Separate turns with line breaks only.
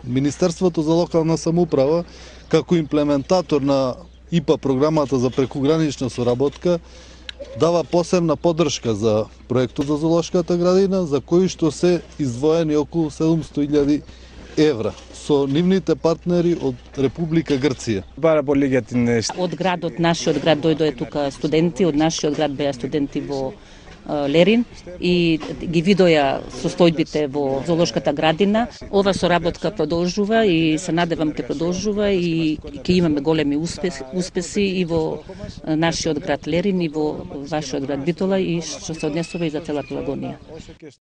Министерството за локална самоуправа, како имплементатор на ИПА програмата за прекугранична соработка, дава посебна поддршка за проектот за зоолошката градина, за кој што се издвоени околу 700.000 евра со нивните партнери од Република Грција.
Од градот, нашиот град дојдоа тука студенти, од нашиот град беа студенти во Лерин и ги видоја состојбите во зоолошката градина. Ова соработка продолжува и се надевам ќе продолжува и ќе имаме големи успеси и во нашиот град Лерин и во вашиот град Битола и што се однесува и за цела Пелагонија.